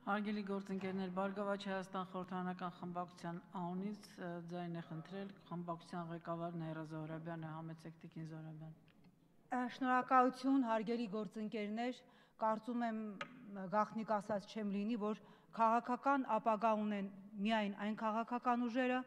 Հարգելի գործընկերներ, Բարգավաճ Հայաստան խորհրդարանական խմբակցության անունից ձայն է խնդրել խմբակցության ղեկավար Նաիրա Զոհրաբյանը, համեցեք տիկին Զոհրաբյան։ Շնորհակալություն, հարգելի գործընկերներ, կարծում եմ գաղտնիք ասած չեմ լինի, որ քաղաքական ապագա ունեն միայն այն քաղաքական ուժերը,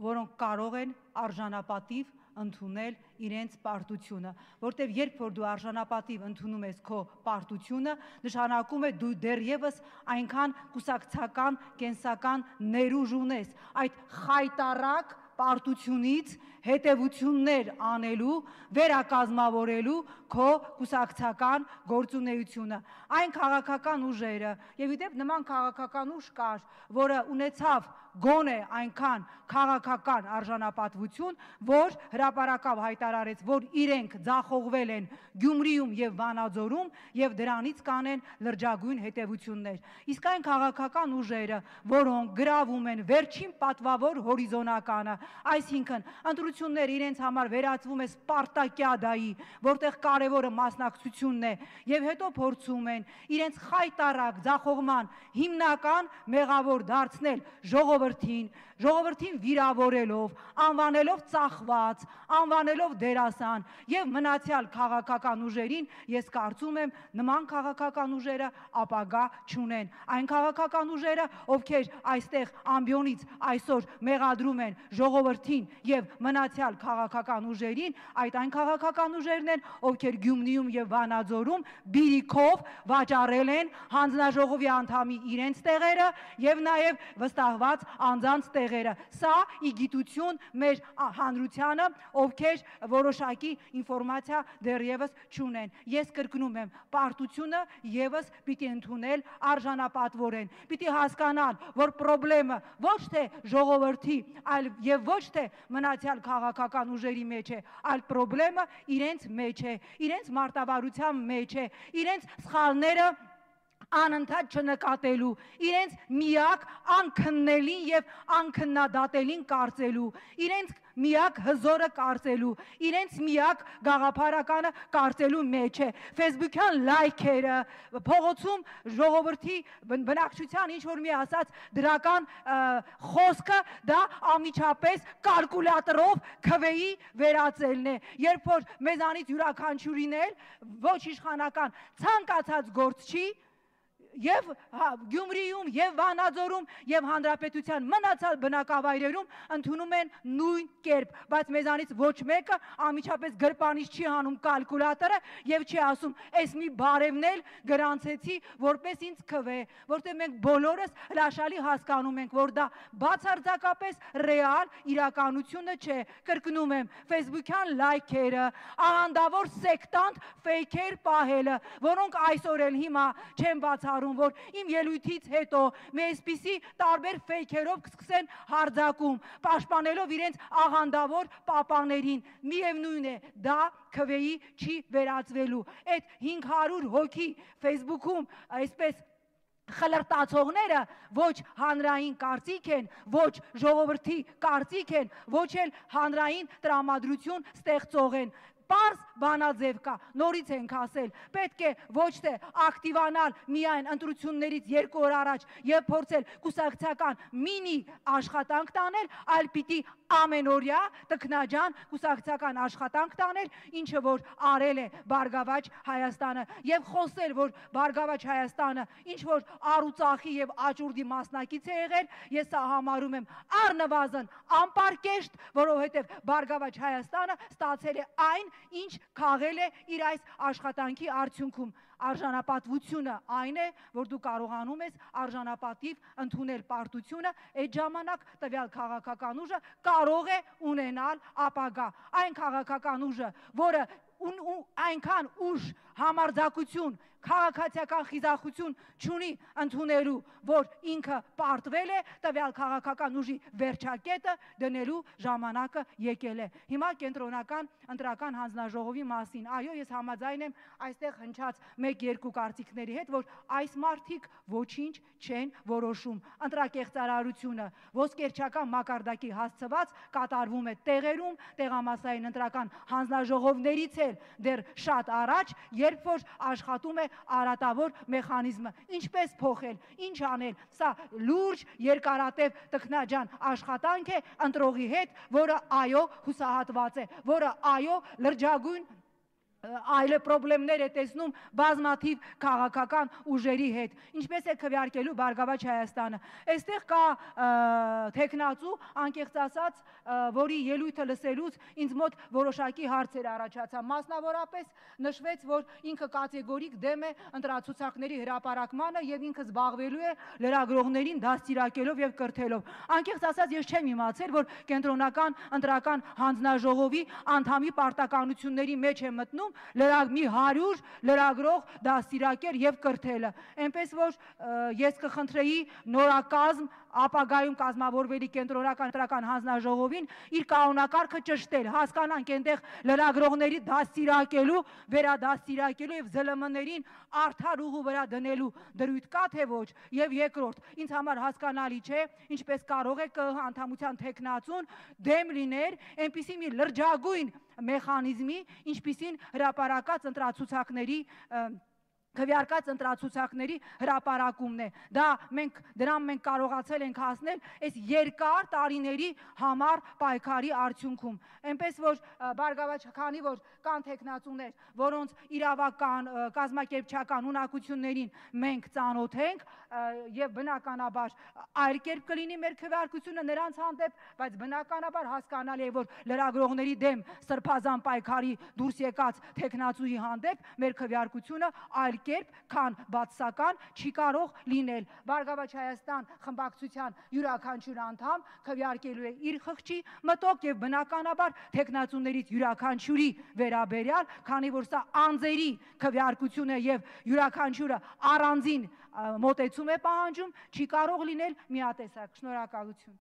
որոնք կարող են արժանապատիվ ընդունել իրենց պարտությունը, որտեղ երբ որ դու արժանապատիվ ընդունում ես քո պարտությունը, նշանակում է դու դեռևս այնքան կուսակցական, կենսական ներուժ ունես, այդ խայտառակ պարտությունից հետևություններ անելու, վերակազմավորելու քո կուսակցական գործունեությունը։ Այն քաղաքական ուժերը, եւ իդեպ նման քաղաքական ուժ կար, որը ունեցավ գոնե այնքան քաղաքական արժանապատվություն, որ հրապարակավ հայտարարեց, որ իրենք ձախողվել են Գյումրիում եւ Վանաձորում եւ դրանից կանեն լրջագույն հետևություններ։ Իսկ այն քաղաքական ուժերը, որոնք գրավում են վերջին պատվավոր հորիզոնականը, այսինքն ընտրությունները իրենց համար վերածվում է Սպարտակիադայի, որտեղ կարևորը մասնակցությունն է, եւ հետո փորձում են իրենց խայտառակ ձախողման հիմնական մեղավոր դարձնել ժողովրդին վիրավորելով, անվանելով ծախված, անվանելով դերասան եւ մնացյալ քաղաքական ուժերին, ես կարծում եմ նման քաղաքական ուժերը ապագա չունեն։ Այն քաղաքական ուժերը, ովքեր այստեղ ամբիոնից այսօր մեղադրում են ժողովրդին եւ մնացյալ քաղաքական ուժերին, այն քաղաքական ուժերն են, ովքեր Գյումրիում եւ Վանաձորում բիրիքով վաճառել են հանձնաժողովի անդամի իրենց տեղերը եւ նաեւ վստահված անձանց տեղերը։ Սա ի գիտություն մեր հանրությանը, ովքեր որոշակի ինֆորմացիա դեռևս չունեն։ Ես կրկնում եմ, պարտությունը եւս պիտի ընդունել արժանապատվորեն։ Պիտի հասկանալ, որ խնդրեմը ոչ թե ժողովրդի, այլ եւ ոչ թե մնացյալ քաղաքական ուժերի մեջ է, այլ խնդրեմը իրենց մեջ է, իրենց մարտավարության մեջ է, իրենց սխալները անընդհատ չնկատելու, իրենց միակ անքննելին եւ անքննադատելին կարծելու, իրենց միակ հզորը կարծելու, իրենց միակ գաղափարականը կարծելու մեջ է։ Facebook-յան լայքերը, փողոցում ժողովրդի բնակչության ինչ որ մի ասած դրական խոսքը, դա անմիջապես կալկուլյատորով քվեի վերածելն է։ Երբ որ մեզանից յուրաքանչյուրին էլ ոչ իշխանական ցանկացած գործ չի, եւ Գյումրիում եւ Վանաձորում եւ հանրապետության մնացած բնակավայրերում ընդունում են նույն կերպ, բայց մեզանից ոչ մեկը անմիջապես գրպանից չի հանում կալկուլյատորը եւ չի ասում, «Էս մի բարևն էլ գրանցեցի, որպես ինձ քվե», որտեղ մենք բոլորս հրաշալի հասկանում ենք, որ դա բացարձակապես ռեալ իրականությունը չէ։ Կրկնում եմ, Facebook-յան լայքերը, աղանդավոր սեկտանտ ֆեյքեր պահելը, որոնք այսօր էլ հիմա չեն բացառում, որ իմ ելույթից հետո մի այսպիսի տարբեր ֆեյքերով կսկսեն հարձակում, պաշտպանելով իրենց աղանդավոր պապաներին։ Միևնույն է, դա քվեի չի վերածվելու։ Այդ 500 հոգի Facebook-ում այսպես խլրտացողները ոչ հանրային կարծիք են, ոչ ժողովրդի կարծիք են, ոչ էլ հանրային տրամադրություն ստեղծող են։ Պարզ բանաձև կա, նորից ենք ասել, պետք է ոչ թե ակտիվանալ միայն ընտրություններից 2 օր առաջ եւ փորձել կուսակցական մինի աշխատանք տանել, այլ պիտի ամենօրյա տքնաջան կուսակցական աշխատանք տանել, ինչը որ արել է Բարգավաճ Հայաստանը, եւ խոսել, որ Բարգավաճ Հայաստանը ինչ որ առուծախի եւ աճուրդի մասնակից է եղել, ես սա համարում եմ առնվազն անպարկեշտ, որովհետեւ Բարգավաճ Հայաստանը ստացել է այն, ինչ քաղել է իր այս աշխատանքի արդյունքում։ Արժանապատվությունը այն է, որ դու կարողանում ես արժանապատիվ ընդունել պարտությունը, այդ ժամանակ տվյալ քաղաքական ուժը կարող է ունենալ ապագա։ Այն քաղաքական ուժը, որը այնքան ուժ, համարձակություն, քաղաքացիական խիզախություն չունի ընդունելու, որ ինքը պարտվել է, տվյալ քաղաքական ուժի վերջակետը դնելու ժամանակը եկել է։ Հիմա կենտրոնական ընտրական հանձնաժողովի մասին, այո, ես համաձայն եմ այստեղ հնչած 1-2 կարծիքների հետ, որ այս մարդիկ ոչինչ չեն որոշում։ Ընտրակեղծարարությունը ոսկերչական մակարդակի հասցված կատարվում է տեղերում, տեղամասային ընտրական հանձնաժողովներից էլ դեռ շատ առաջ, երբ որ աշխատում է արատավոր մեխանիզմը։ Ինչպես փոխել, ինչ անել։ Սա լուրջ երկարատև տքնաջան աշխատանք է ընտրողի հետ, որը այո հուսահատված է, որը այո լրջագույն այլ պրոբլեմներ է տեսնում բազմաթիվ քաղաքական ուժերի հետ։ Ինչպես է քվեարկելու Բարգավաճ Հայաստանը։ Այստեղ կա թեկնածու, անկեղծ ասած, որի ելույթը լսելուց ինձ մոտ որոշակի հարցեր առաջացան։ Մասնավորապես նշվեց, որ ինքը կատեգորիկ դեմ է ընտրացուցակների հրապարակմանը եւ ինքը զբաղվելու է լրագրողներին դաստիարակելով եւ կրթելով։ Անկեղծ ասած, ես չեմ իմացել, որ կենտրոնական ընտրական հանձնաժողովի անդամի պարտականությունների մեջ է մտնում մի 100 լրագրող դաստիարակել եւ կրթելը։ Այնպես որ ես կխնդրեի նորակազմ ապագայում կազմավորվելի կենտրոնական ընտրական հանձնաժողովին իր կանոնակարգը ճշտել, հասկանանք այնտեղ լրագրողների դաստիարակելու, վերադաստիարակելու եւ ԶԼՄ-ներին արդար ուղու վրա դնելու դրույթ կա թե ոչ։ Եվ երկրորդ, ինձ համար հասկանալի չէ, ինչպես կարող է ԿԸՀ անդամության թեկնածուն դեմ լինել այնպիսի մի լրջագույն մեխանիզմի, ինչպիսին հրապարակած ընտրացուցակների քվեարկած ընտրացուցակների հրապարակումն է։ Դրան մենք կարողացել ենք հասնել այս երկար տարիների համար պայքարի արդյունքում։ Այնպես որ Բարգավաճ, քանի որ կան թեկնածուներ, որոնց իրավական, կազմակերպչական ունակություններին մենք ծանոթ ենք եւ բնականաբար այլ կերպ կլինի մեր քվեարկությունը նրանց հանդեպ, բայց բնականաբար հասկանալի է, որ լրագրողների դեմ սրբազան պայքարի դուրս եկած թեկնածուի հանդեպ մեր քվեարկությունը այլ կերպ, քան բացասական չի կարող լինել։ Բարգավաճ Հայաստան խմբակցության յուրաքանչյուր անդամ քվեարկելու է իր խղճի մտոք եւ բնականաբար թեկնածուներից յուրաքանչյուրի վերաբերյալ, քանի որ սա անձերի քվեարկություն է եւ յուրաքանչյուրը առանձին մոտեցում է պահանջում, չի կարող լինել միատեսակ։ Շնորհակալություն։